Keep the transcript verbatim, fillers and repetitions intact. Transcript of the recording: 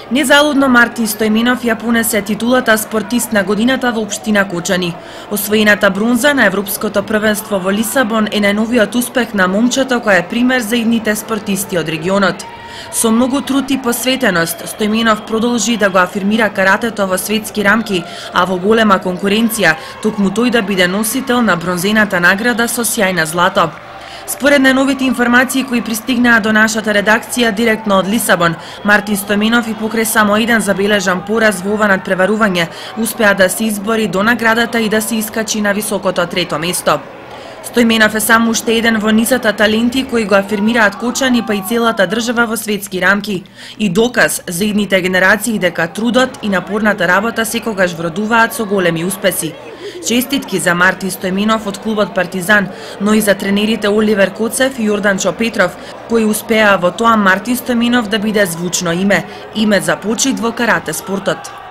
Незалудно Мартин Стојменов ја понесе титулата спортист на годината во општина Кочани. Освоената бронза на Европското првенство во Лисабон е најновиот успех на момчето кој е пример за идните спортисти од регионот. Со многу труд и посветеност, Стојменов продолжи да го афирмира каратето во светски рамки, а во голема конкуренција, токму тој да биде носител на бронзената награда со сјај на злато. Според најновите информации кои пристигнаа до нашата редакција директно од Лисабон, Мартин Стојменов и покрај само еден забележан пораз во ова надпреварување, успеа да се избори до наградата и да се искачи на високото трето место. Стојменов е само уште еден во низата таленти кои го афирмираат Кочани па и целата држава во светски рамки и доказ за идните генерации дека трудот и напорната работа секогаш вродуваат со големи успеси. Честитки за Мартин Стојменов од клубот Партизан, но и за тренерите Оливер Коцев и Јорданчо Петров, кои успеа во тоа Мартин Стојменов да биде звучно име, име за почит во карате спортот.